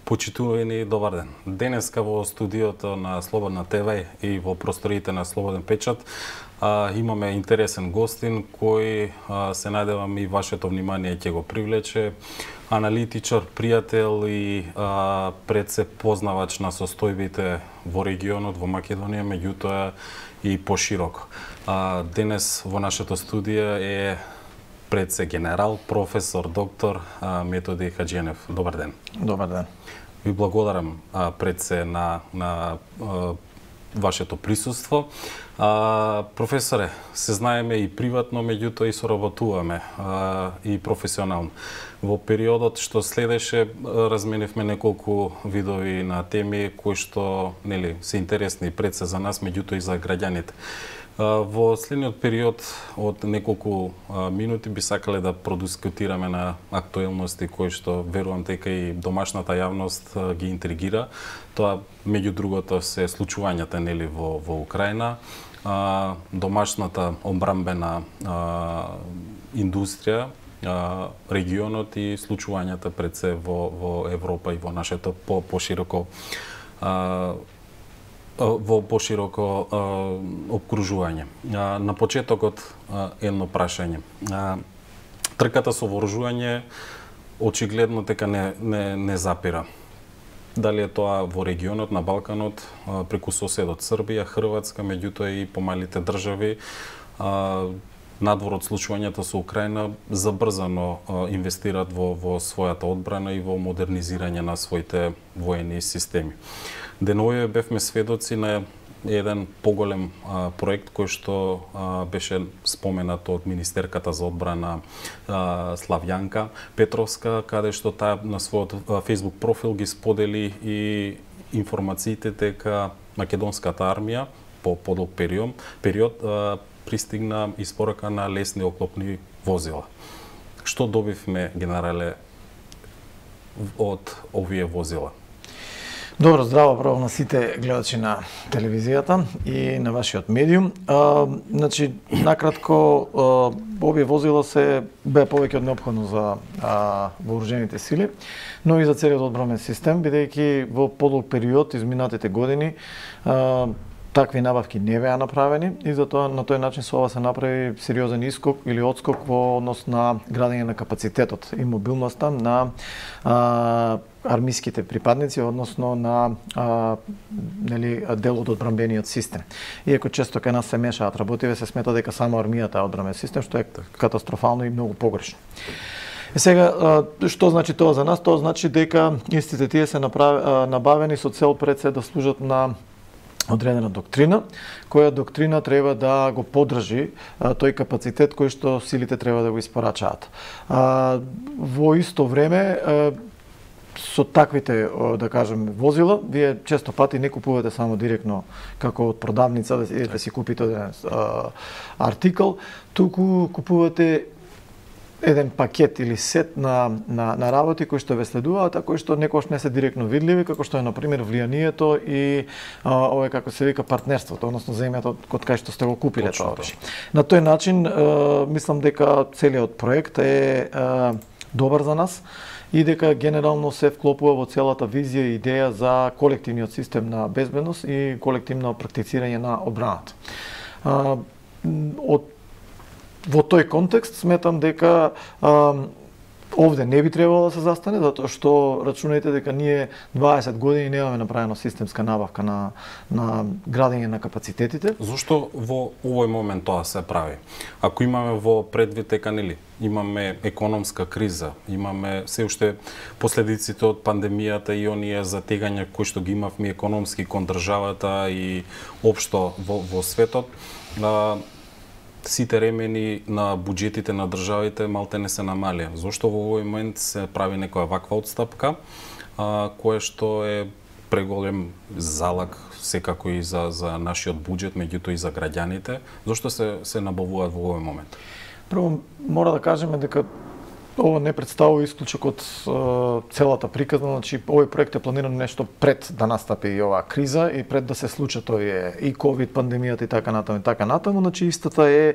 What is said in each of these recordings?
Почитувани, добар ден. Денеска во студиото на Слободна ТВ и во просториите на Слободен печат имаме интересен гостин кој се надевам и вашето внимание ќе го привлече. Аналитичар, пријател и пред се познавач на состојбите во регионот, во Македонија, меѓутоа и пошироко. Денес во нашето студија е пред се генерал, професор, доктор Методи Хаџијанев. Добар ден. Добар ден. Ви благодарам пред се на вашето присуство. Професоре, се знаеме и приватно, меѓутоа и соработуваме и професионално. Во периодот што следеше, разменивме неколку видови на теми кои што се интересни пред се за нас, меѓутоа и за граѓаните. Во следниот период од неколку минути би сакале да продискутираме на актуелности кои што верувам дека и домашната јавност ги интригира. Тоа меѓу другото се случувањата во Украина, домашната одбранбена индустрија, регионот и случувањата пред се во Европа и во нашето пошироко обкружување. На почетокот едно прашање. Трката со вооружување очигледно дека не запира. Дали е тоа во регионот, на Балканот, преку соседот Србија, Хрватска, меѓутоа и помалите држави, надвор од случувањата со Украина, забрзано инвестираат во својата одбрана и во модернизирање на своите воени системи. Деновиве бевме сведоци на еден поголем проект кој што беше споменат од министерката за одбрана Славјанка Петровска, каде што таа на својот Facebook профил ги сподели и информациите дека македонската армија по подолг период пристигна испорака на лесни оклопни возила. Што добивме, генерале, од овие возила? Добро, здраво право на сите гледачи на телевизијата и на вашиот медиум. Значи, накратко, овие возила се бе повеќе од неопходно за вооружените сили, но и за целиот одбранбен систем, бидејќи во подолг период изминатите години такви набавки не беа направени и затоа на тој начин со ова се направи сериозен искок или одскок во однос на градење на капацитетот и мобилноста на армиските припадници, односно на дел од одбранбениот систем. Иако често кај нас се мешаат работиве, се смета дека само армијата е одбранбен систем, што е катастрофално и многу погрешно. Сега, што значи тоа за нас? Тоа значи дека истите тие се набавени со цел пред се да служат на одредена доктрина, која доктрина треба да го поддржи тој капацитет кој што силите треба да го испорачаат. Во исто време, со таквите, да кажем, возила, вие често пати не купувате само директно како од продавница да идете си купите еден артикл, туку купувате еден пакет или сет на работи кои што ве следуваат, а кои што некогаш не се директно видливи, како што е на пример влијанието и ова како се вика партнерството, односно земјата од кај што сте го купиле тоа оружје. На тој начин мислам дека целиот проект е добар за нас и дека генерално се вклопува во целата визија и идеја за колективниот систем на безбедност и колективно практицирање на одбраната. Во тој контекст сметам дека овде не би требало да се застане, затоа што рачунајте дека ние 20 години немаме направено системска набавка на градење на капацитетите. Зошто во овој момент тоа се прави? Ако имаме во предвид дека имаме економска криза, имаме се уште последиците од пандемијата и оние затегања кои што ги имавме економски кон државата и општо во светот, сите ремени на буџетите на државите малте не се намалија. Зошто во овој момент се прави некоја ваква отстапка, кое што е преголем залак секако и за нашиот буџет, меѓутоа и за граѓаните? Зошто се набавуваат во овој момент? Прво, мора да кажеме дека ова не представува исклучок од целата приказна, значи овој проект е планиран нешто пред да настапи и оваа криза и пред да се случат овие и ковид пандемијата и така натаму, значи истата е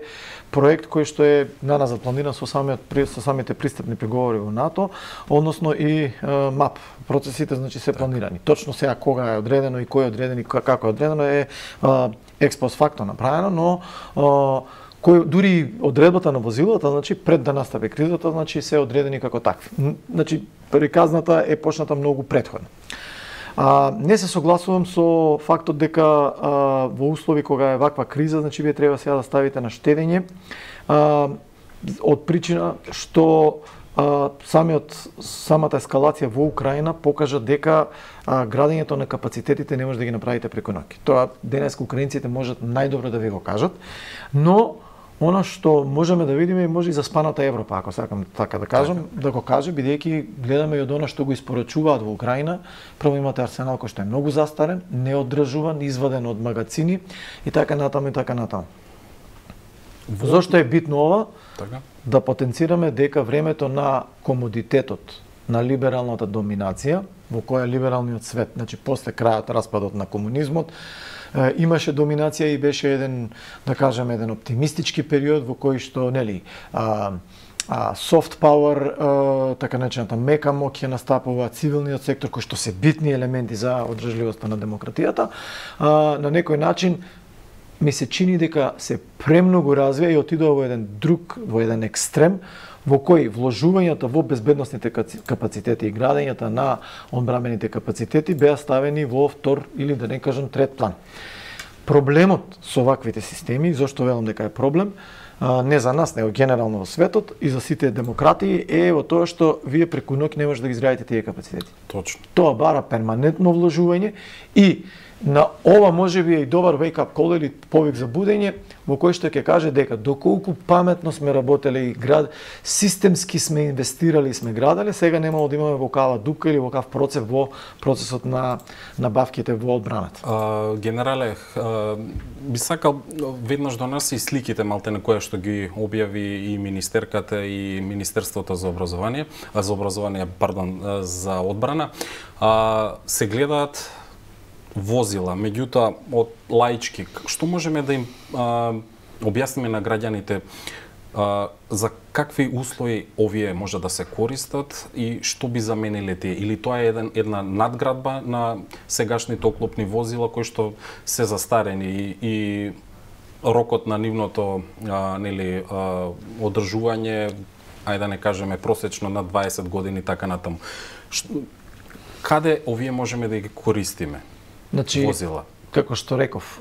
проект кој што е на нас запланиран со самите пристапни преговори во НАТО, односно и МАП. Процесите значи се планирани. Точно сега кога е одредено и кој е одреден и како е одредено е експост факто направено, но дури одредбата на возилата, значи пред да настапи кризата, значи се одредени како такви. Значи приказната е почната многу претходно. Не се согласувам со фактот дека во услови кога е ваква криза, значи вие треба сега да ставите на штедење од причина што самата ескалација во Украина покажа дека градењето на капацитетите не може да ги направите преку ноќ. Тоа денес украинците можат најдобро да ви го кажат, но она што можеме да видиме може и заспаната Европа, ако сакам така да кажам, да го каже, бидејќи гледаме и од она што го испорачуваат во Украина. Прво имате арсенал кој што е многу застарен, неодржуван, изваден од магацини и така натаму и така натаму. Зошто е битно ова? Така. Да потенцираме дека времето на комодитетот, на либералната доминација, во која либералниот свет, значи после крајот, распадот на комунизмот, имаше доминација и беше еден, да кажеме, еден оптимистички период во кој што, нели, soft power, така наречената мека моќ ја настапува, цивилниот сектор, кој што се битни елементи за одржливоста на демократијата, на некој начин ми се чини дека се премногу развија и отидува во еден екстрем, во кој вложувањата во безбедносните капацитети и градењата на одбранбените капацитети беа ставени во втор или да не кажам трет план. Проблемот со ваквите системи, зашто велам дека е проблем, не за нас, него генерално во светот и за сите демократии, е во тоа што вие преку ноќ не може да ги изградите тие капацитети. Точно. Тоа бара перманентно вложување и на ова може би е и добар wake-up call или повик за будење, во кој што ќе каже дека доколку паметно сме работеле и системски сме инвестирали и сме граделе, сега немало да имаме вокава дупка или вокав процес во процесот на набавките во одбраната. Генерале, би сакал веднаш до нас и сликите малте на која што ги објави и министерката и Министерството за за одбрана, се гледаат возила, меѓутоа од лаички, што можеме да им објасниме на граѓаните за какви услови овие може да се користат и што би замениле тие? Или тоа е една надградба на сегашните оклопни возила кои што се застарени и рокот на нивното одржување, ајде да не кажеме просечно на 20 години така натаму. Каде овие можеме да ги користиме? Значи, возила. Како што реков,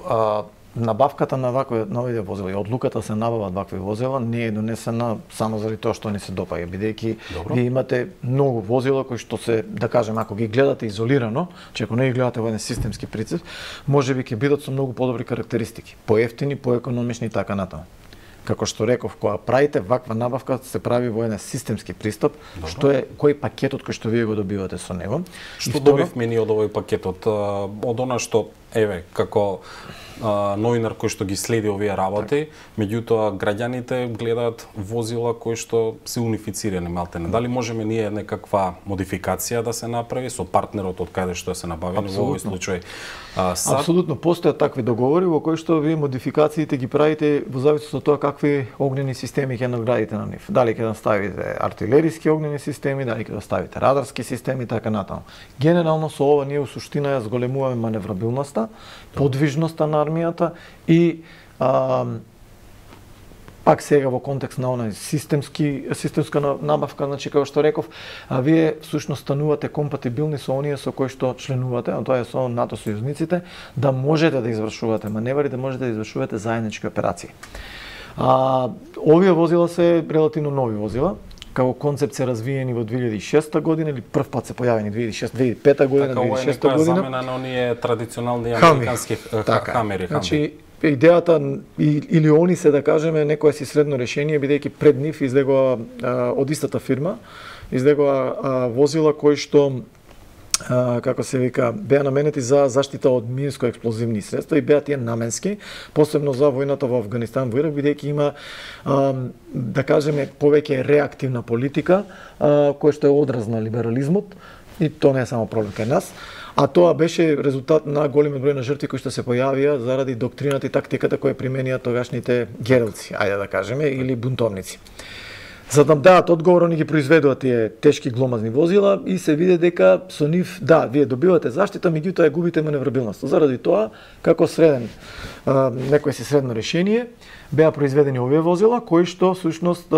набавката на овие возила и одлуката се набават вакви возила не е донесена само заради тоа што не се допаѓа, бидејќи вие имате многу возила кои што се, да кажем, ако ги гледате изолирано, че ако не ги гледате во еден системски принцип, можеби ќе бидат со многу подобри карактеристики, поевтини, поекономични и така натаму. Како што реков, кога правите ваква набавка, се прави во еден системски пристап, што е кој пакетот кој што вие го добивате со него. Што добивме ние од овој пакетот? Од она што, еве, како новинар кој што ги следи овие работи, меѓутоа граѓаните гледаат возила кои што се унифицирани малтене. Дали можеме ние некаква модификација да се направи со партнерот од каде што се набавени во овој случај? Апсолутно постојат такви договори во кои што вие модификациите ги правите во зависност од тоа какви огнени системи ќе надградите на нив. Дали ќе ставите артилериски огнени системи, дали ќе ставите радарски системи, така натаму. Генерално со ова ние во суштина ја зголемуваме маневрабилноста, подвижноста на армијата и пак сега во контекст на онај системска набавка, значи како што реков, вие всушност станувате компатибилни со оние со кои што членувате, а тоа е со НАТО сојузниците, да можете да извршувате маневри, да можете да извршувате заеднички операции. Овие возила се релативно нови возила, како концепт се развиени во 2006 година или прв пат се појавени 2005 година, 2006 година. Замена на оние традиционални американски хамери. Значи, идејата или они се, да кажеме, некое си средно решение, бидејќи пред нив излегува од истата фирма, излегува возила кои што како се вика, беа наменети за заштита од минско-експлозивни средства и беа тие наменски, посебно за војната во Авганистан, во Ирак, бидејќи има, да кажеме, повеќе реактивна политика, која што е одраз на либерализмот, и тоа не е само проблем кај нас, а тоа беше резултат на големиот број на жртви кои што се појавија заради доктрината и тактиката која применија тогашните гералци, ајде да кажеме, или бунтовници. За да дадат одговор, они ги произведуваат тие тешки гломазни возила и се види дека со нив, да, вие добивате заштита, меѓутоа губите маневрабилност. Заради тоа, како среден, некој си средно решение, беа произведени овие возила, кои што, всушност,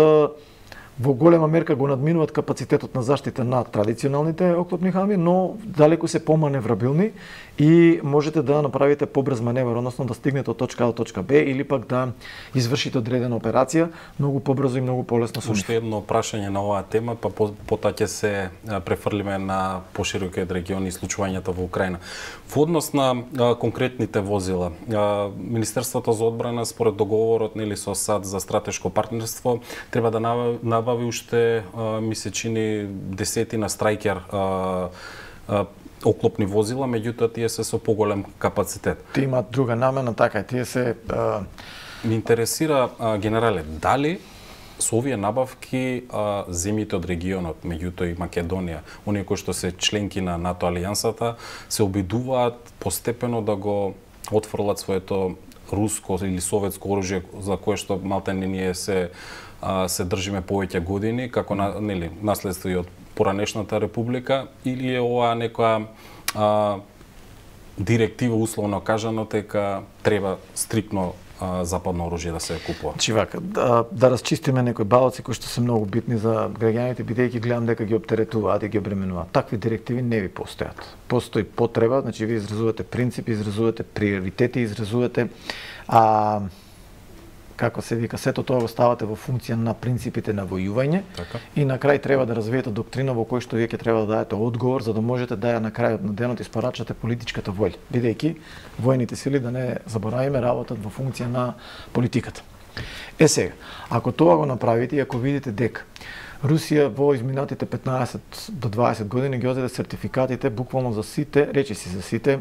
во голема мерка го надминуваат капацитетот на заштита на традиционалните оклопни хамби, но далеку се поманеврабилни и можете да направите побрз маневр, односно да стигнете од точка А до точка Б или пак да извршите одредена операција многу побрзо и многу полесно со нив. Уште едно прашање на оваа тема, па потоа ќе се префрлиме на поширокиот регион и случувањата во Украина. Во однос на конкретните возила, Министерството за одбрана според договорот нели со САД за стратешко партнерство треба да набави уште ми се чини десетина Страйкер оклопни возила, меѓутоа тие се со поголем капацитет. Тие имаат друга намена, така е, тие се... Ми интересира, генерале, дали со овие набавки земјите од регионот, меѓутоа и Македонија, оние кои што се членки на НАТО алијансата, се обидуваат постепено да го отфрлат своето руско или советско оружје за кое што малтене ние се држиме повеќе години, како нели наследство и од поранешната република, или е ова некоја директива условно кажано дека треба стриктно западно оружје да се купува? Значи вака, да расчистиме некои балоци кои што се многу битни за граѓаните, бидејќи гледам дека ги оптеретуваат и ги обременуваат. Такви директиви не ви постојат. Постои потреба, значи ви изразувате принципи, изразувате приоритети, изразувате како се вика, сето тоа го ставате во функција на принципите на војување, така. И на крај треба да развиете доктрина во кој што вие ќе треба да дадете одговор за да можете да ја на крајот на денот испорачате политичката волја, бидејќи војните сили, да не заборавиме, работат во функција на политиката. Сега, ако тоа го направите и ако видите дека Русија во изминатите 15 до 20 години ги одзеде сертификатите буквално за сите, речиси за сите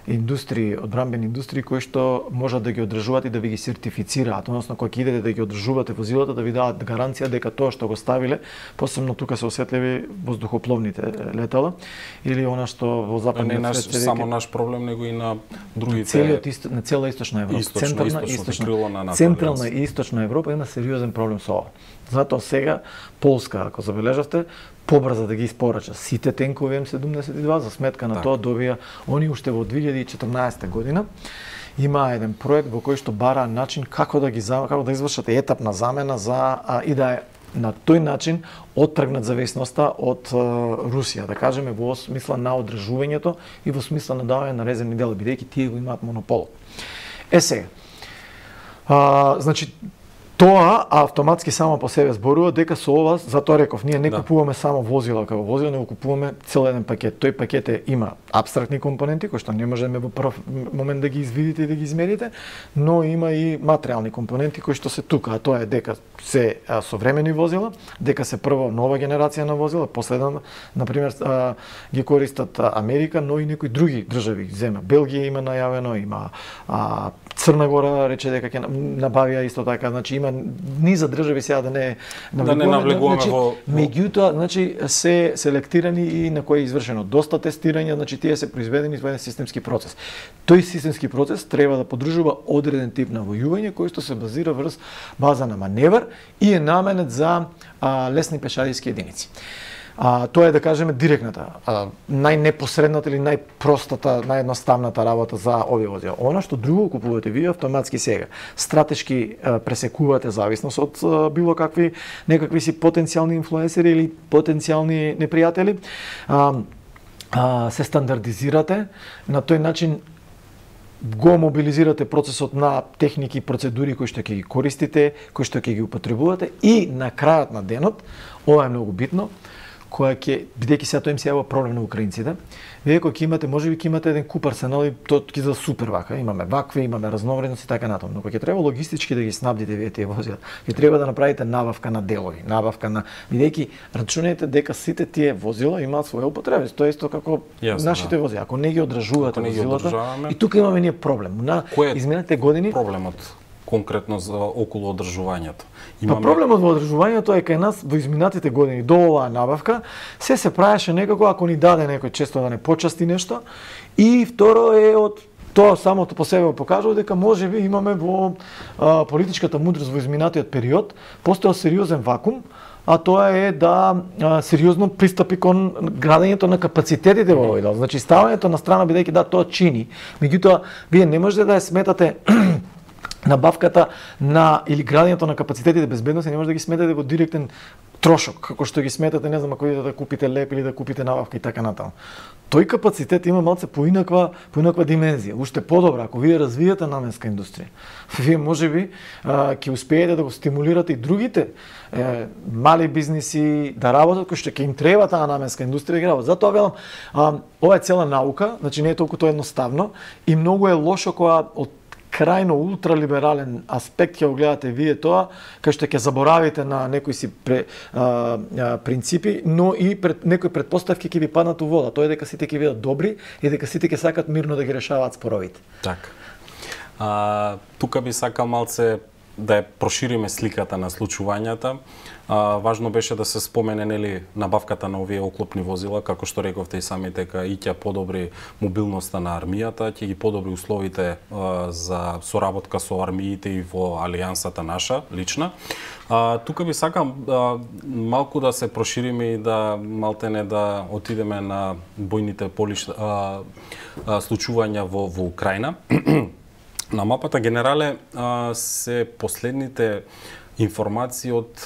индустрии, одбранбени индустрии кои што можат да ги одржуваат и да ви ги сертифицираат, односно кога ќе идете да ги одржувате возилата, да ви дадат гаранција дека тоа што го ставиле, посебно тука се осетливи воздухопловните летала или она што во западниот свет не само наш проблем, него и на другите на цела источна Европа, централна и источна Европа има сериозен проблем со ова. Затоа сега Полска, ако забележавте, побрза да ги испорача сите тенкови М72, за сметка на тоа добија они уште во 2014 година има еден проект во кој што бара начин како да извршат етапна замена и да на тој начин оттргнат зависноста од Русија, да кажеме во смисла на одржувањето и во смисла на давање на резервни дела, бидејќи тие го имаат монопол. Сега, значи тоа автоматски само по себе зборува дека со ова, затоа реков, ние не купуваме само возила како возила, него купуваме цел еден пакет. Тој пакет има апстрактни компоненти кои што не можеме во прв момент да ги извидите и да ги измерите, но има и материјални компоненти кои што се тука, а тоа е дека се современи возила, дека се прво нова генерација на возила, последна, например, ги користат Америка, но и некои други држави, земја. Белгија има најавено, има Црна Гора рече дека ќе набавија исто така, значи има низа држави, сега да не навлегуваме во... Меѓутоа, значи се селектирани и на кои е извршено доста тестирање, значи тие се произведени во еден системски процес. Тој системски процес треба да поддржува одреден тип на војување кој што се базира врз база на маневр и е наменет за лесни пешадиски единици. Тоа е, да кажеме, директната, најнепосредната или најпростата, наједноставната работа за овие возила. Она што друго купувате вие автоматски сега, стратешки пресекувате зависност од било какви некакви си потенцијални инфлуенсери или потенцијални непријатели, се стандардизирате, на тој начин го мобилизирате процесот на техники и процедури кои што ќе ги користите, кои што ќе ги употребувате и на крајот на денот, ова е многу битно, која ќе бидејќи сега тоа им се јавува проблем на украинците. Вие кога ќе имате, можеби ќе имате еден куп арсенал и тоа ќе за супер вака, имаме вакви, имаме разновредности така натаму, но кога ќе треба логистички да ги снабдите вие тие возила, ќе треба да направите набавка на делови, набавка на бидејќи рачунете дека сите тие возила имаат своја употреба. Тоа е исто како нашите возила. Ако не ги одржувате возилата, и тука имаме ние проблем. На изминатите години проблемот конкретно за околу одржувањето. Проблемот во одржувањето е кај нас во изминатите години до оваа набавка се правеше некако ако ни даде некој често да не почасти нешто, и второ е од тоа самото по себе покажува дека можеби имаме во политичката мудрост во изминатиот период постоел сериозен вакуум, а тоа е да сериозно пристапи кон градењето на капацитетите во овој дел. Значи ставањето на страна, бидејќи да тоа чини, меѓутоа вие не можете да ја сметате набавката на или градењето на капацитетите безбедности, не може да ги сметате во директен трошок, како што ги сметате, не знам, ако идете да купите леп или да купите набавка и така натаму. Тој капацитет има малце поинаква димензија. Уште подобра, ако вие развиете наменска индустрија, вие можеби ќе успеете да го стимулирате и другите мали бизниси да работат, кои што ќе им треба таа наменска индустрија да работат. Затоа велам, ова е цела наука, значи не е толку тоа едноставно и многу е лошо кога од крајно ултралиберален аспект ќе го гледате вие тоа, кај што ќе заборавите на некои си принципи, но и некои претпоставки ќе ви паднат у вода. Тоа е дека сите ќе бидат добри и дека сите ќе сакат мирно да ги решаваат споровите. Така. Тука би сакал малце да ја прошириме сликата на случувањата. Важно беше да се спомене нели набавката на овие оклопни возила, како што рековте и сами, дека и ќе подобри мобилноста на армијата, ќе ги подобри условите за соработка со армиите и во алијансата наша лична. Тука би сакам малку да се прошириме и да малтене да отидеме на бојните случувања во Украина. На мапата генерале се последните информации од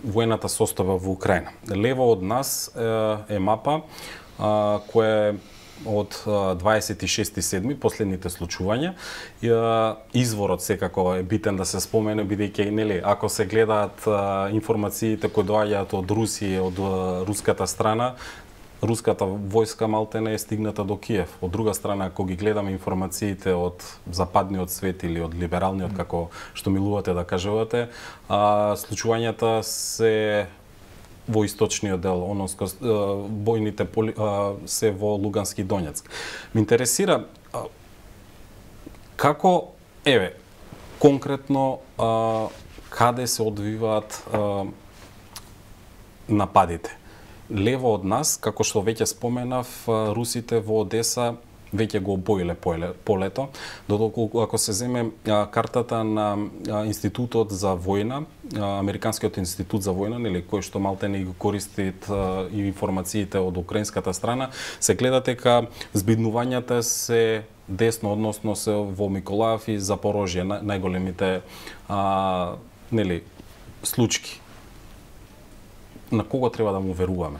воената состава во Украина. Лево од нас е мапа која е од 26.7. последните случувања. Изворот секако е битен да се спомене, бидејќи нели ако се гледаат информациите кои доаѓаат од Русија, од руската страна, руската војска малтене е стигната до Киев. Од друга страна, ако ги гледаме информациите од западниот свет или од либералниот, како што милувате да кажувате, случувањата се во источниот дел, бојните се во Лугански и Донецк. Ме интересира како, конкретно каде се одвиваат нападите. Лево од нас, како што веќе споменав, русите во Одеса веќе го обоиле полето, додолку ако се земе картата на Институтот за војна, Американскиот институт за војна, нели, кој што малтене го користит и информациите од украинската страна, се гледа дека збиднувањата се десно, односно се во Миколаев и Запорожје, најголемите нели случаи. На кого треба да му веруваме?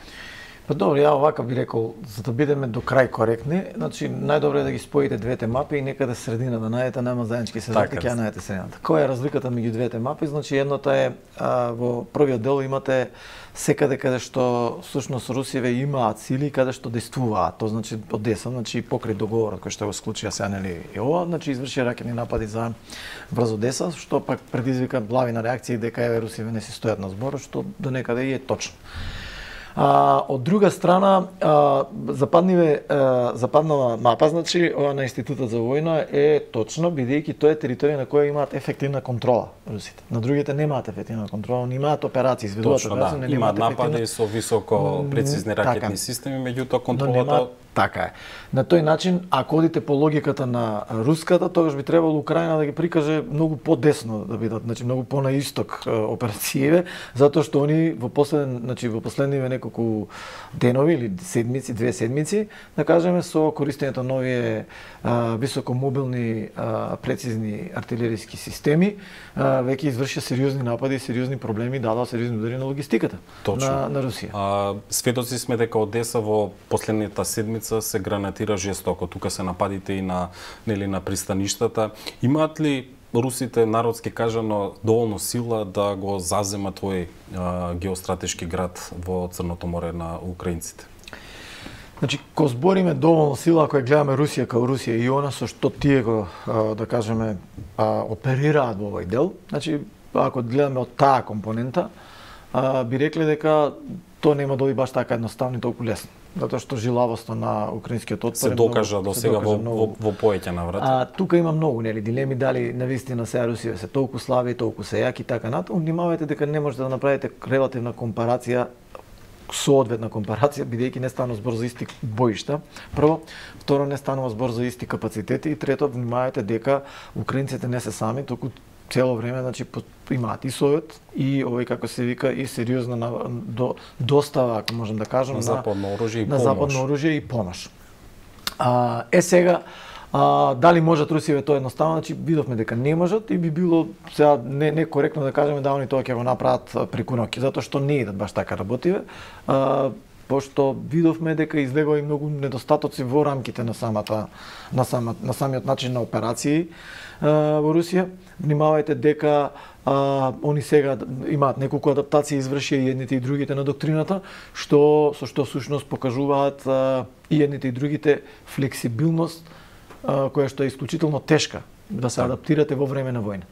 Па добро, ја овака би рекол, за да бидеме до крај коректни, значи најдобро е да ги споите двете мапи и некаде средина да најдете, нема заеднички се затек, ја најдете средината. Која е разликата меѓу двете мапи? Значи едната е во првиот дел имате секаде каде што всушност русиве имаат сили каде што действуваат. Тоа значи Одеса, значи покрај договорот кој што го склучија сега нели и ова, значи изврши ракетни напади врз Одеса, што пак предизвика лавина реакција дека русиве не си стојат на збор, што до некаде и е точно. Од друга страна, западнава мапа, значи, ова на Институтот за војна е точно, бидејќи тоа е територија на која имаат ефективна контрола русите. На другите немаат ефективна контрола, не имаат операции, изведуваат операции, не имаат напади со високо прецизни ракетни системи, меѓутоа контролата така е. На тој начин, ако одите по логиката на руската, тогаш би требало Украина да ги прикаже многу подесно да бидат, значи многу на исток операциите, затоа што они во последниве неколку денови или седмици, 2 седмици, да кажеме, со користењето на овие високомобилни прецизни артилериски системи, веќе извршија сериозни напади, сериозни проблеми, дадоа сериозни удари на логистиката на Русија. Сведоци сме дека Одеса во последната седмица се гранатира жестоко. Тука се нападите и на пристаништата. Имаат ли русите, народски кажано, доволно сила да го зазема тој геостратешки град во Црното море на украинците? Значи, ко збориме доволно сила, ако ја гледаме Русија као Русија и она со што тие го, да кажеме, оперираат во овој дел, значи, ако гледаме од таа компонента, би рекле дека тоа нема да оди баш така едноставно и толку лесно. Затоа што жилавоста на украинскиот отпор се докажа до сега во поеќе наврати. Тука има многу дилеми дали навистина сега Русија се толку слаби, толку се јаки и така натаму. Внимавајте дека не можете да направите релативна компарација, соодветна компарација, бидејќи не станува збор за исти боишта. Прво, второ, не станува збор за исти капацитети и трето, внимавајте дека украинците не се сами, туку цело време, значи, имаат и совет и овој, како се вика, и сериозна достава, ако можем да кажем, на западно оружје и помош. На западно оружје и помош. Сега, дали можат Русија тоа едноставно, значи видовме дека не можат и би било сега некоректно да кажеме да они тоа ќе го направат преку ноќ, затоа што не идат баш така работиве. Пошто видовме дека излегува и многу недостатоци во рамките на самиот начин на операции во Русија. Внимавајте дека они сега имаат неколку адаптации извршија и едните и другите на доктрината, со што всушност покажуваат и едните и другите флексибилност, која што е исклучително тешка да се адаптирате во време на војна.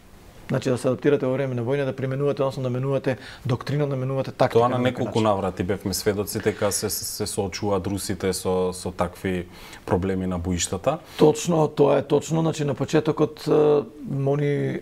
Значи да се адаптирате во време на војна, да применувате, односно да менувате доктрина, да менувате тактика. Тоа на неколку наврати бевме сведоци дека се соочуваат русите со такви проблеми на боиштата. Точно, тоа е точно. Значи на почетокот они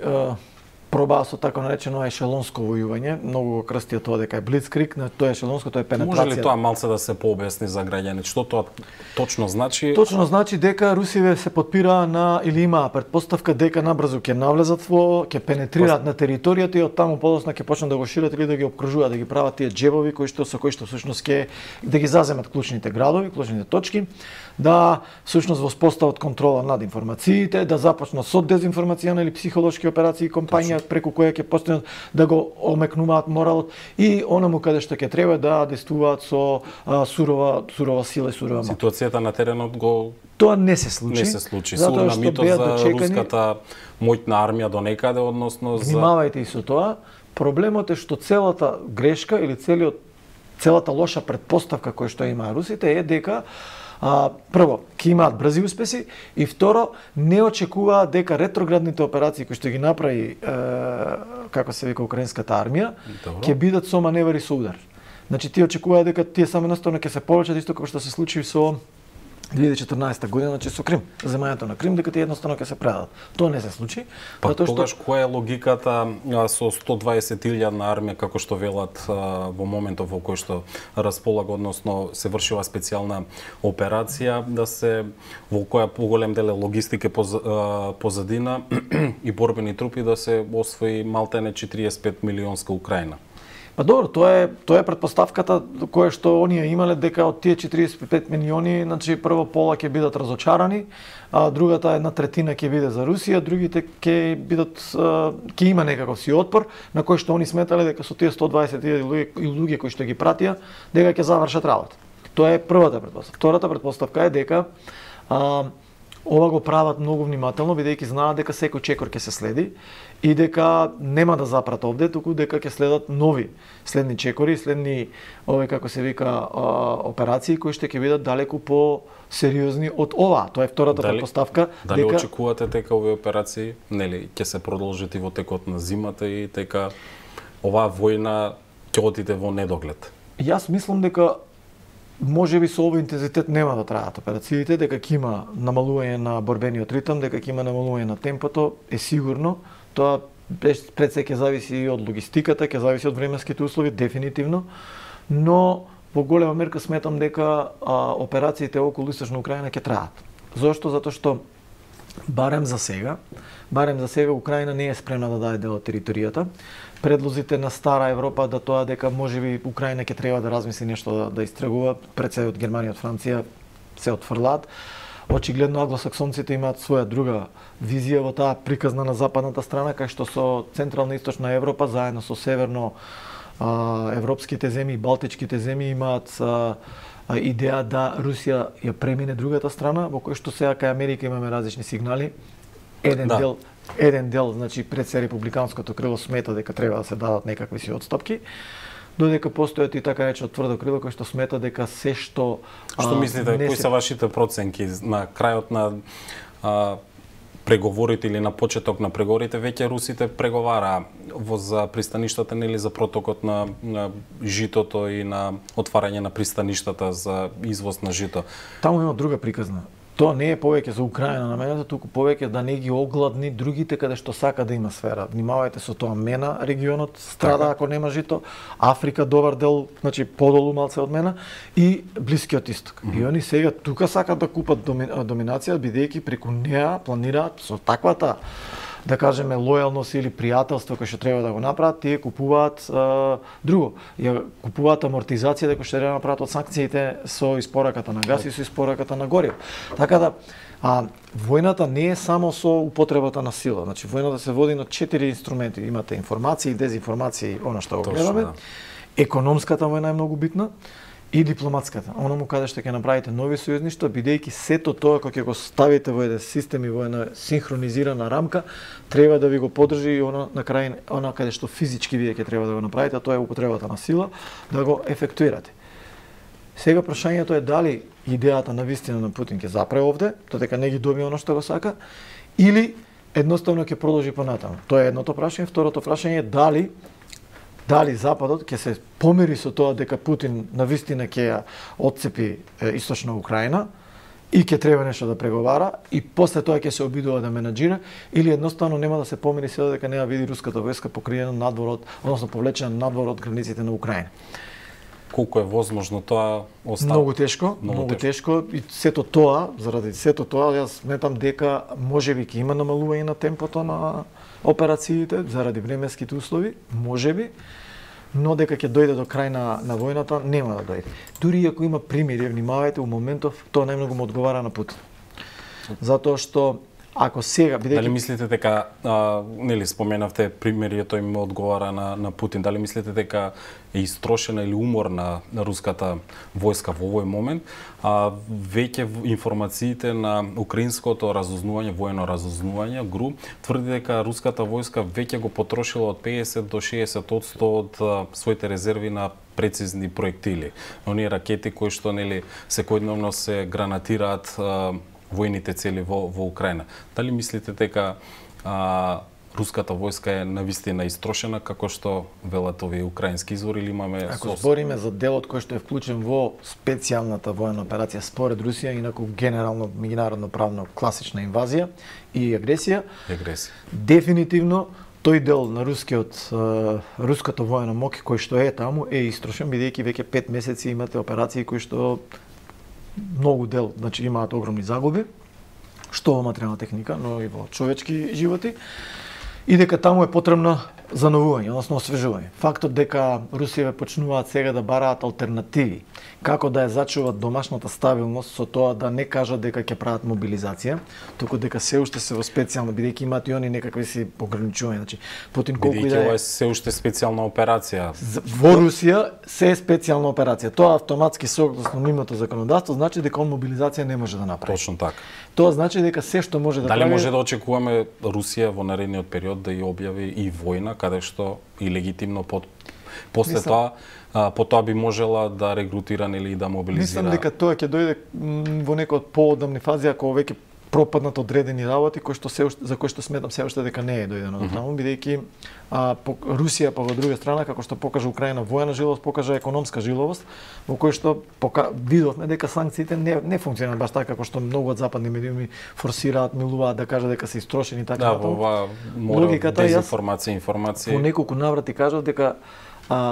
пробаа со така наречено ешелонско војување, многу го крстија тоа дека е блицкриг, тоа ешелонско, тоа е пенетрација. Може ли тоа малце да се пообјасни за граѓаните? Што тоа точно значи? Точно значи дека русиве се подпираа на или имаа претпоставка дека набрзо ќе навлезат ќе пенетрираат на територијата и од таму подоцна ќе почнат да го шират или да ги опкружуваат, да ги прават тие џебови со кои што всушност ќе да ги заземат клучните градови, клучните точки, да всушност воспостават контрола над информациите, да започнат со дезинформацијна или психолошки операции, компања преку која ќе постојат да го омекнуваат моралот и онаму каде што ќе треба да действуваат со сурова сила и сурова моќ. Ситуацијата на теренот тоа не се случи. Не се случи. Со намитот за руската моќна армија до некаде, односно за... Внимавајте и со тоа. Проблемот е што целата грешка или целата лоша претпоставка која што има русите е дека прво, ќе имаат брзи успеси и второ, не очекуваат дека ретроградните операции кои што ги направи, како се вика, украинската армија, ќе бидат со маневри со удар. Значи, тие очекуваат дека тие само наставно ќе се повлечат исто како што се случи со 2014 година, значи со Крим, земањето на Крим, дека тие едноставно ќе се предадат. Тоа не се случи. Тогаш која е логиката со 120.000 армија, како што велат во моментов во кој што располага, односно се вршила специјална операција, да се во која поголем дел е логистика позадина и борбени трупи да се освои малтене 45 милионска Украина? Па добро, тоа е претпоставката која што оние имале дека од тие 45 милиони, значи прво пола ќе бидат разочарани, а другата 1/3 ќе биде за Русија, другите ќе има некаков си отпор на кој што они сметале дека со тие 120.000 луѓе кои што ги пратија дека ќе завршат работа. Тоа е првата претпоставка. Втората претпоставка е дека ова го прават многу внимателно, бидејќи знаат дека секој чекор ќе се следи и дека нема да запрат овде, туку дека ќе следат нови следни чекори, следни како се вика операции кои што ќе бидат далеку по-сериозни од ова. Тоа е втората претпоставка. Дали очекувате дека овие операции ќе се продолжат и во текот на зимата и дека оваа војна ќе отиде во недоглед? Јас мислам дека можеби со овој интензитет нема да траат операциите, дека ќе има намалување на борбениот ритм, дека ќе има намалување на темпото, е сигурно. Тоа пред се ќе зависи и од логистиката, ќе зависи од временските услови, дефинитивно. Но во голема мерка сметам дека операциите околу Источна Украина ќе траат. Зошто? Затоа што барем за сега Украина не е спремна да даде дел од територијата. Предлозите на стара Европа да тоа дека можеби Украина ќе треба да размисли нешто да истрагува, пред се од Германија, од Франција се отфрлаат. Очигледно англосаксонците имаат своја друга визија во таа приказна на западната страна, кај што со Централна и Источна Европа заедно со северно европските земји и балтичките земји имаат идеја да Русија ја премине другата страна, во кој што сега кај Америка имаме различни сигнали. Еден дел еден дел, значи пред се републиканското крило смета дека треба да се дадат некакви си отстапки, додека постојат и така речено тврдо крило кој што смета дека се што мислите, кои се вашите проценки на крајот на преговорите или на почеток на преговорите, веќе русите преговара за пристаништата или за протокот на житото и на отварање на пристаништата за извоз на жито? Таму има друга приказна. Тоа не е повеќе за Украина наменето, туку повеќе да не ги огладни другите каде што сака да има сфера. Внимавајте со тоа, Мена регионот страда ако нема жито, Африка добар дел, значи подолу малце од Мена и Блискиот исток. И они сега тука сакат да купат доминација бидејќи преку неа планираат со таквата, да кажеме, лојалност или пријателство кој што треба да го направат, тие купуваат друго. Ја купуваат амортизација дека што треба да направат од санкциите со испораката на газ и со испораката на гориво. Така да војната не е само со употребата на сила. Значи војната се води на 4 инструменти. Имате информации, дезинформации, она што го гледаме. Економската војна е многу битна. И дипломатската, оному каде што ќе направите нови сојузништва, бидејќи сето тоа кога ќе го ставите во еден систем и во една синхронизирана рамка, треба да ви го поддржи и она на крај, она каде што физички вие ќе треба да го направите, тоа е употребата на сила, да го ефектуирате. Сега прашањето е дали идејата на вистина на Путин ќе запре овде, додека не ги добие она што го сака, или едноставно ќе продолжи понатаму. Тоа е едното прашање. Второто прашање е дали Западот ќе се помири со тоа дека Путин навистина ќе ја отцепи источна Украина и ќе треба нешто да преговара и после тоа ќе се обидува да менаџира, или едноставно нема да се помири се дека не ја види руската војска покриена надвор од, односно повлечена надвор од границите на Украина. Колку е возможно тоа остава? Многу тешко и сето тоа, заради сето тоа, јас сметам дека можеби ќе има намалување на темпото на операциите заради временските услови, можеби, но дека ќе дојде до крај на војната, нема да дојде. Дури ако има примири, внимавајте, у моментов тоа најмногу му одговара на Путин. Затоа што ако сега бидејќи... Дали мислите дека нели споменавте примерието им одговара на Путин, дали мислите дека е истрошена или уморна на руската војска во овој момент, веќе информациите на украинското разузнување, воено разузнување, ГРУ, тврди дека руската војска веќе го потрошила од 50 до 60% од своите резерви на прецизни проектили. Оние ракети кои што нели секојдневно се гранатираат војните цели во Украина. Дали мислите дека руската војска е навистина истрошена како што велат овие украински извори, или имаме... Ако збориме за делот кој што е вклучен во специјалната војна операција според Русија, инаку генерално меѓународно правно класична инвазија и агресија, дефинитивно тој дел на руското војна моќ кој што е таму е истрошен, бидејќи веќе 5 месеци имате операции кои што многу дел, значи имаат огромни загуби, што во материјална техника, но и во човечки животи, и дека таму е потребно зановување, односно освежување. Фактот дека Русија почнуваат сега да бараат алтернативи, како да ја зачуват домашната стабилност со тоа да не кажат дека ќе прават мобилизација, туку дека се уште се во специјално, бидејќи имаат и они некакви си ограничувања. Значи, Путин колку и да е... Бидејќи ова е се уште специјална операција. Во Русија се е специјална операција. Тоа автоматски согласно нивното законодавство значи дека он мобилизација не може да направи. Точно така. Тоа значи дека се што може да прави... Дали може да очекуваме Русија во наредниот период да ја објави и војна, каде што и легитимно после тоа по тоа би можела да регрутира или да мобилизира? Мислам дека тоа ќе дојде во некој од поодамни фази, ако веќе пропаднат одредени работи за кои што сметам се уште дека не е дојдено до таму, бидејќи Русија па во друга страна, како што покажа Украина војна жиловост, покажа економска жиловост, во кој што видовме дека санкциите не функционираат баш така како што многу од западни медиуми форсираат, милуваат да кажат дека се истрошени така натаму. Да, мора дезинформација, информација. По неколку наврати кажав дека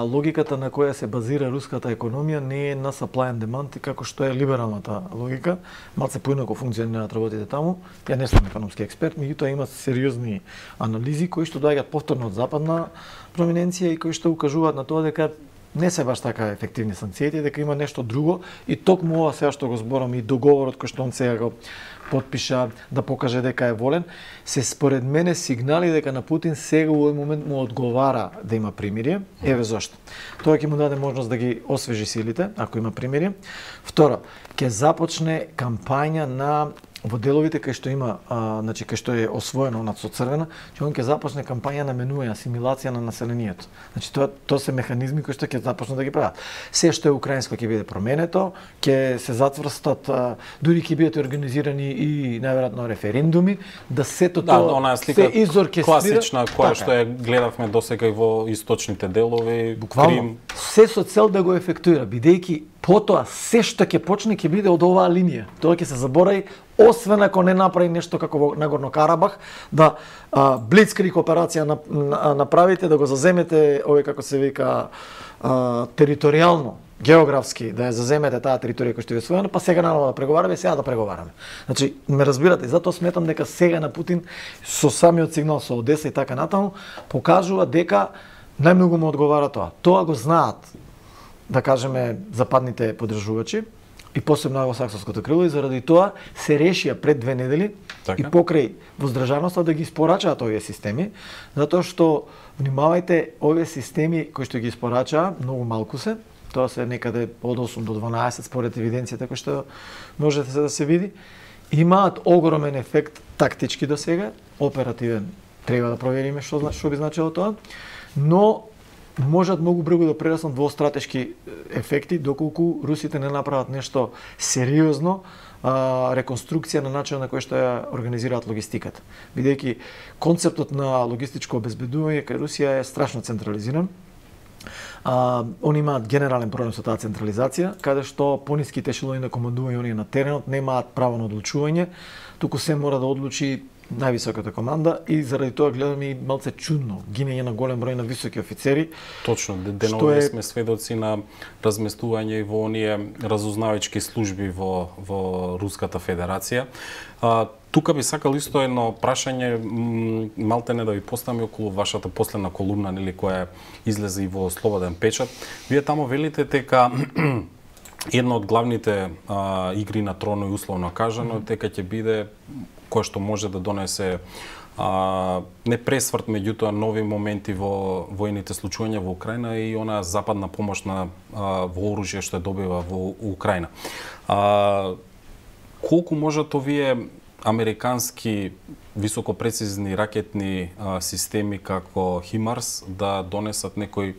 логиката на која се базира руската економија не е на supply and demand, како што е либералната логика. Малце поинаку функционираат работите таму. Ја не сум економски експерт, меѓутоа има сериозни анализи кои што доаѓаат повторно од западна проминенција и кои што укажуваат на тоа дека не се баш така ефективни санкциите, дека има нешто друго и токму ова сега што го зборам и договорот кој што он сега го потпиша да покаже дека е волен, се според мене сигнали дека на Путин сега во овој момент му одговара да има примирие. Еве зошто. Тоа ќе му даде можност да ги освежи силите, ако има примирие. Второ, ќе започне кампања на во деловите кај што има, значи кај што е освоено над со црвена, че он ќе започне кампања на менуја, асимилација на населението. Значи тоа се механизми кои што ќе започнат да ги прават. Се што е украинско ќе биде променето, ќе се затврстат, дури ќе бидат организирани и најверојатно референдуми, да сето тоа се изоркестрира. Класична која што ја гледавме досега и во источните делови, буквално, се со цел да го ефектуира, бидејќи потоа се што ќе почне ќе биде од оваа линија. Тоа ќе се заборави, освен ако не направи нешто како во Нагорно Карабах, да блицкриг операција направите, да го заземете, овој како се вика, територијално, географски, да ја заземете таа територија која што е освоена, па сега наново да преговараме, сега да преговараме. Значи, ме разбирате, затоа сметам дека сега на Путин со самиот сигнал со Одеса и така натаму покажува дека најмногу му одговара тоа. Тоа го знаат, да кажеме, западните поддржувачи и посебно англосаксонското крило, и заради тоа се решија пред 2 недели и покрај воздржаноста да ги испорачаат овие системи, затоа што, внимавајте, овие системи кои што ги испорачаа, многу малку се, тоа се некаде од 8 до 12 според евиденцијата кој што можете да се види, имаат огромен ефект тактички до сега, оперативен, треба да провериме што би значило тоа, но можат многу брзо да прераснат во стратешки ефекти доколку русите не направат нешто сериозно, реконструкција на начинот на кој што ја организираат логистиката. Бидејќи концептот на логистичко обезбедување кај Русија е страшно централизиран. Они имаат генерален проблем со таа централизација, каде што пониските ешелони на командување оние на теренот немаат право на одлучување, туку се мора да одлучи највисоката команда и заради тоа гледаме и малце чудно гинење на голем број на високи офицери. Точно, денови сме сведоци на разместување и во оние разузнавачки служби во Руската Федерација. Тука би сакал исто едно прашање, малтене да ви поставам околу вашата последна колумна, нели, која излезе и во Слободен печат. Вие таму велите дека една од главните игри на троно и условно кажано дека ќе биде кој што може да донесе не пресврт, меѓутоа нови моменти во војните случувања во Украина и она западна помош на вооружје што ја добива во Украина. Колку можат овие американски високопрецизни ракетни системи како Химарс да донесат некои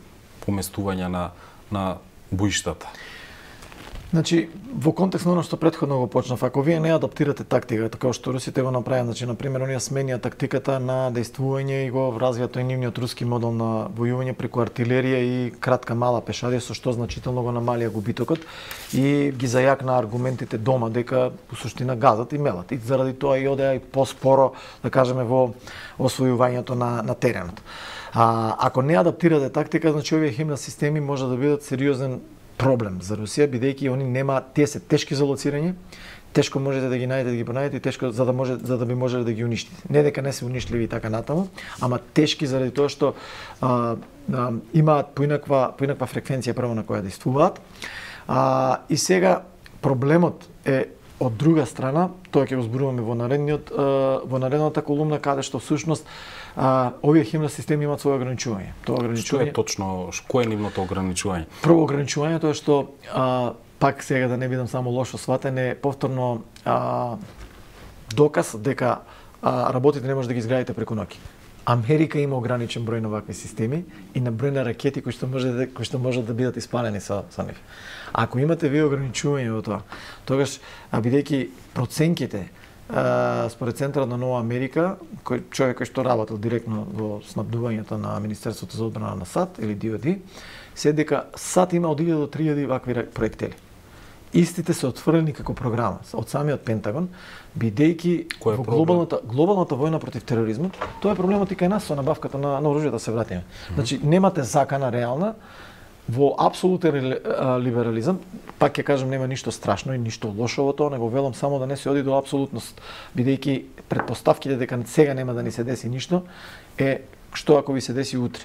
поместувања на боиштата? Значи, во контекст на оно што претходно го почнав, ако вие не адаптирате тактиката, како што русите го направија, значи, например, оние сменија тактиката на дејствување и го развијат тој нивниот руски модел на војување преку артилерија и кратка мала пешадија, со што значително го намалија губитокот и ги зајакна аргументите дома дека во суштина газат и мелат. И заради тоа и одеа и поспоро, да кажеме, во освојувањето на теренот. Ако не адаптирате тактика, значи овие химна системи може да бидат сериозен проблем за Русија, бидејќи они тие се тешки за лоцирање, тешко можете да ги најдете, да ги пронајдете, тешко за да би можеле да ги уништите. Не дека не се уништливи и така натаму, ама тешки заради тоа што имаат поинаква фреквенција прво на која действуваат. И сега проблемот е од друга страна, тоа ќе го зборуваме во наредната колумна, каде што всушност овие химна системи имаат своје ограничување. Што е точно, кој е нивното ограничување? Прво ограничувањето е што, пак сега да не бидам само лошо сватен, е повторно доказ дека работите не може да ги изградите преку ноќ. Америка има ограничен број на вакви системи и на број на ракети кои што можат да бидат испалени со нив. Ако имате вие ограничување во тоа, тогаш, бидејќи проценките според Центарот на Нова Америка, човек кој што работел директно во снабдувањето на Министерството за одбрана на САД или DOD, се дека САД има од 1000 до 3000 вакви проектили. Истите се отфрлени како програма од самиот Пентагон, бидејќи во глобалната војна против тероризмот, тоа е проблемот и кај нас со набавката на оружје, да се вратиме. Значи немате закана реална во апсолутен либерализам, пак ќе кажам, нема ништо страшно и ништо лошо во тоа, него велам само да не се оди до апсолутност, бидејќи претпоставките дека сега нема да ни се деси ништо е што ако ви се деси утре.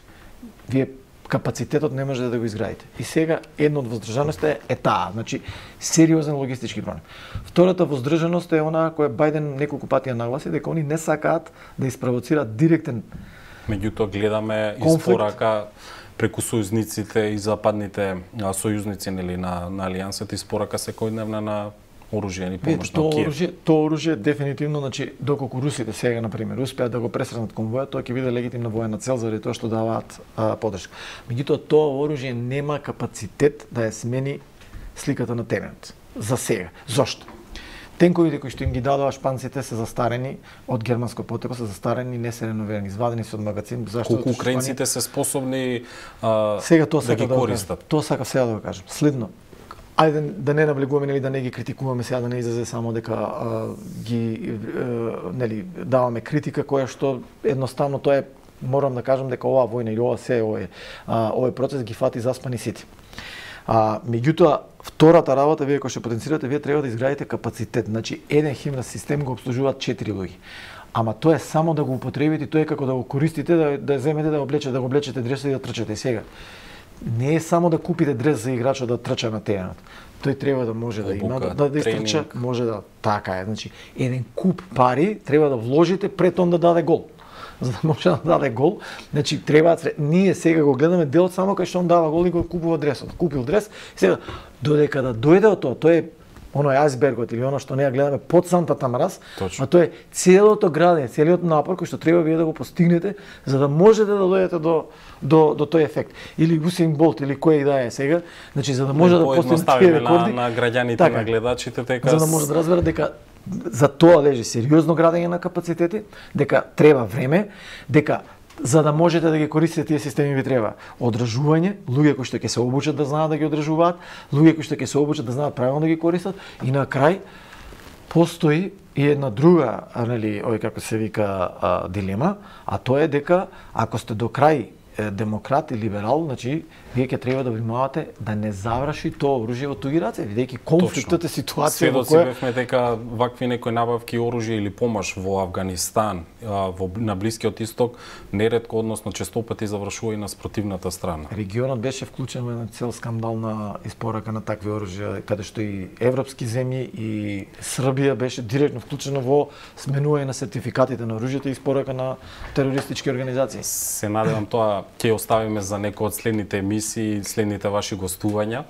Вие капацитетот не можете да го изградите. И сега едно од воздржаноста е таа, значи сериозен логистички проблем. Втората воздржаност е она која Бајден неколку пати ја нагласи, дека они не сакаат да испровоцираат директен меѓутоа гледаме испорака преку сојузниците и западните сојузници, нели, на алијансата, испорака секојдневна на оружје или помош на Киев? Тоа оружје дефинитивно, значи доколку русите сега на пример успеат да го пресрнат конвојот, тоа ќе биде легитимна воена цел заради тоа што даваат поддршка. Меѓутоа тоа оружје нема капацитет да ја смени сликата на теренот. За сега. Зошто? Тенковите кои што им ги дадоа шпанците се застарени од германско потекло, се застарени, не се реновирани, извадени се од магазин. Зашто колку украинците се способни сега тоа да ги користат? Тоа сакам сега да го кажам. Следно, ајде да не наблегуваме или да не ги критикуваме сега, да не излезе само дека нели даваме критика која што едноставно тоа е, морам да кажам дека оваа војна или овој процес ги фати заспани сите. Меѓутоа, втората работа, вие кој што потенцирате, вие треба да изградите капацитет. Значи, еден химнас систем го обслужуваат 4 луѓе. Ама тоа е само да го употребите, тоа е како да го користите, да земете, да го облечете дресот и да трчате. Сега, не е само да купите дрес за играчот да трча на теренот. Тој треба да може да има, да истрча, може да, така е. Значи, еден куп пари треба да вложите пред он да даде гол. За да може да даде гол, значи треба ние сега го гледаме делот само кај што он дава гол и го купува дресот. Купил дрес, сега додека да дојде од тоа е оној ајсбергот или оно што ние гледаме под сантата мраз, а тоа е целото градење, целиот напор кој што треба вие да го постигнете за да можете да дојдете до тој ефект. Или Усейн Болт или кој и да е сега, значи за да може да постигнете тие рекорди на граѓаните, на гледачите, дека за да може да разберат дека за тоа лежи сериозно градење на капацитети, дека треба време, дека за да можете да ги користите тие системи ви треба одржување, луѓе кои што ќе се обучат да знаат да ги одржуваат, луѓе кои што ќе се обучат да знаат правилно да ги користат и на крај постои и една друга, нели, како се вика дилема, а тоа е дека ако сте до крај демократ и либерал, значи вие ќе треба да внимавате да не заврши тоа оружје во туѓи раце, бидејќи конфликтот е ситуација во која бевме дека вакви некои набавки оружје или помош во Авганистан, на Блискиот исток, неретко, односно често пати завршува и на спротивната страна. Регионот беше вклучен во една цел скандална испорака на такви оружја, каде што и европски земји и Србија беше директно вклучена во сменување на сертификатите на оружјето и испорака на терористички организации. Се надевам тоа ќе оставиме за некои од следните емисии, следните ваши гостувања,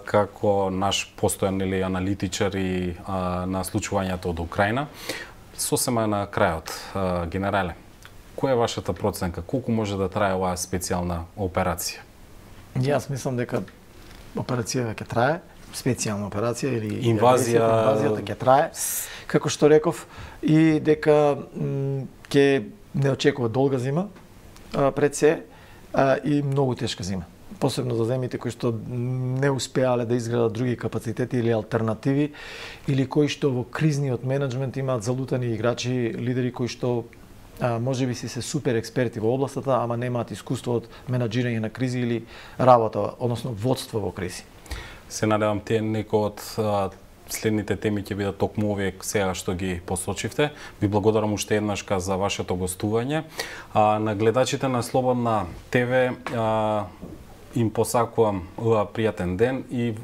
како наш постојан или аналитичар и на случувањето од Украина. Сосема на крајот, генерале, која е вашата проценка? Колку може да трае оваа специјална операција? Јас мислам дека операцијата ќе трае, специјална операција или инвазијата ќе трае, како што реков, и дека ќе не очекува долга зима пред се и многу тешка зима. Посебно за земјите кои што не успеале да изградат други капацитети или алтернативи, или кои што во кризниот менеджмент имаат залутани играчи, лидери кои што можеби си се супер експерти во областата, ама немаат искуство од менаџирање на кризи или работа, односно водство во кризи. Се надевам тие некои од следните теми ќе бидат токму овие сега што ги посочивте. Ви благодарам уште еднаш за вашето гостување. На гледачите на Слободна ТВ им посакувам пријатен ден и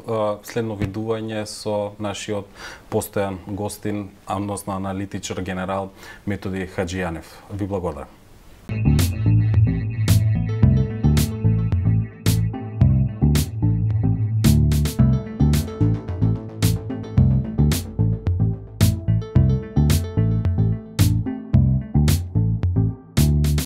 следно видување со нашиот постојан гостин, односно аналитичар генерал Методи Хаџијанев. Ви благодарам.